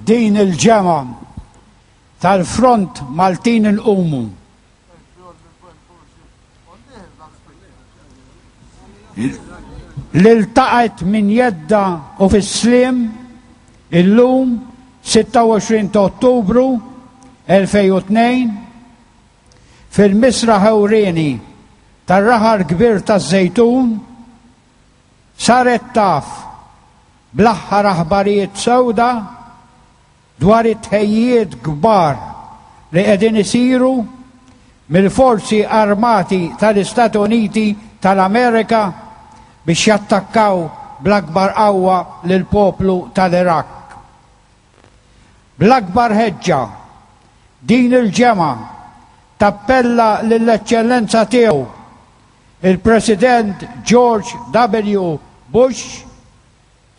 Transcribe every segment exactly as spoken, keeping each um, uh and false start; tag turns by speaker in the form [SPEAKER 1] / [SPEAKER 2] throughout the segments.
[SPEAKER 1] Din il-ġemgħa tal-Front Maltin Inqumu li ltaqgħet minn jedda u fis-sliem illum sitta u għoxrin ta' Ottubru elfejn u tnejn fil-Misraħ Ewrieni tar-Raħal Kbir taż-Żejtun saret taf bl-aħħar aħbarijiet sewda dwar it-tħejjijiet kbar li qegħdin isiru mill-forzi armati tal-Istati Uniti tal-Amerika biex jattakkaw bl-akbar qawwa lill-poplu tal-Iraq. Bl-akbar ħeġġa, din il-ġemgħa tappella lill-Eċċellenza tiegħu il-President George W. Bush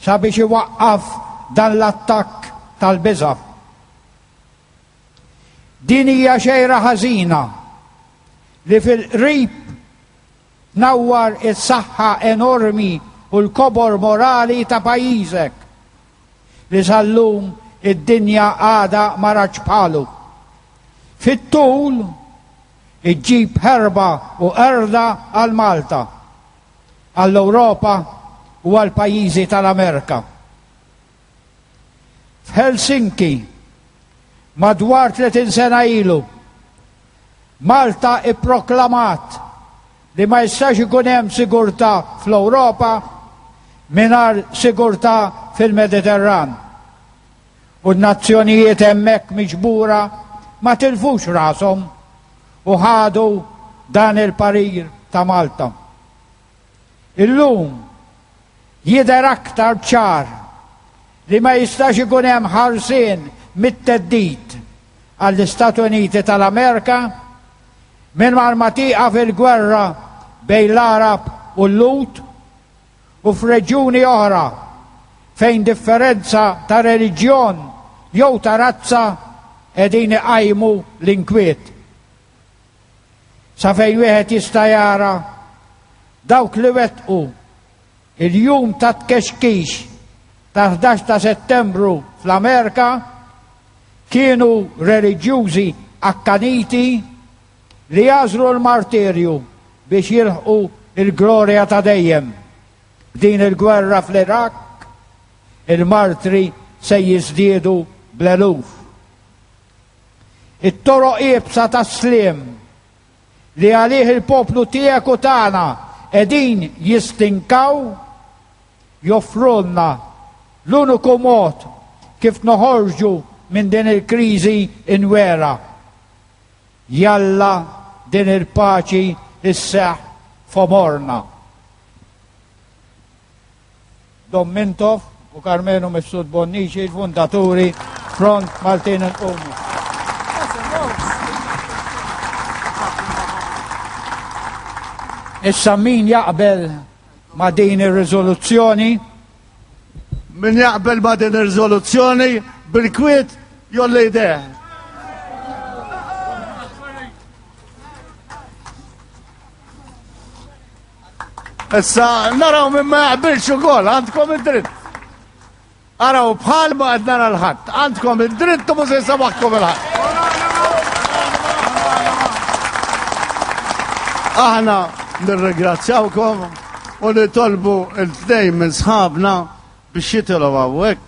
[SPEAKER 1] sabiex iwaqqaf dan l-attakk tal-biża'. Din hija xejra ħażina li fil-qrib tnawwar is-saħħa enormi u l-kobor morali ta' pajjiżek li sal-lum id-dinja għadha ma ratx bħalu. Fit-tul iġġib ħerba u qerda għal Malta, għall-Ewropa u għal pajjiżi tal-Amerika. F'Helsinki, madwar tletin sena ilu, Malta ipproklamat li ma jistax ikun hemm sigurtà fl-Ewropa mingħajr sigurtà fil-Mediterran. U n-nazzjonijiet hemmhekk miġbura ma tilfux rashom u ħadu dan il-parir ta' Malta. Illum jidher aktar ċar li ma jistax ikun hemm ħarsien mit-teddid għall-Istati Uniti tal-Amerika minn ma tieqaf il-gwerra bejn l-Arab u l-Lut u f'reġjuni oħra fejn differenza ta' reliġjon jew ta' razza qegħdin iqajmu l-inkwiet. Sa fejn wieħed jista' jara dawk li wettqu il-jum ta' tkexkix ta' ħdax ta' Settembru fl-Amerika kienu reliġjużi akkaniti li jażlu l-martirju biex jilħqu il-glorja ta' dejjem. B'din il-gwerra fl-Iraq, il-martri se jiżdiedu bl-eluf. It-toroq iebsa tas-sliem li għalih il-poplu tiegħek u tagħna qegħdin jistinkaw joffrulna l-uniku mod kif noħorġu minn din il-kriżi inwera. Jalla din il-paċi isseħ f'għomorna. Dom Mintoff u Karmenu Mifsud Bonnici, il-fundaturi Front Maltin Inqumu. Issa min jaqbel ma' din ir-riżoluzzjoni?
[SPEAKER 2] Min jaqbel ma' din ir-riżoluzzjoni bil-kwiet jolli jdejh. Issa naraw min ma jaqbilx ukoll, għandkom id-dritt. Araw bħal ma qed nara l-ħadd, għandkom id-dritt u mhux se jsabaħkom il-ħadd. Aħna nirringrazzjawkom u nitolbu l-tnejn minn sħabna biex jitilgħu hawnhekk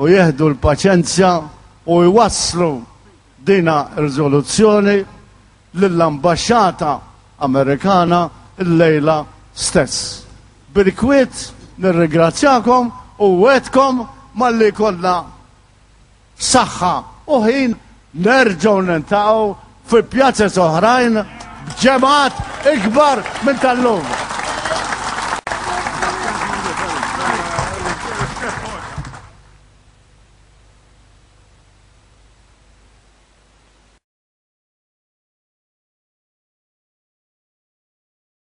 [SPEAKER 2] u jieħdu l-paċenzja u jwasslu dina riżoluzzjoni lill-ambaxxata Amerikana l-lejla stess. Bil-kwiet nirringrazzjakom u wetkom malli jkollna saħħa u ħin nerġgħu niltaqgħu fi pjazez oħrajn b'ġemgħat ikbar minn tal-lum.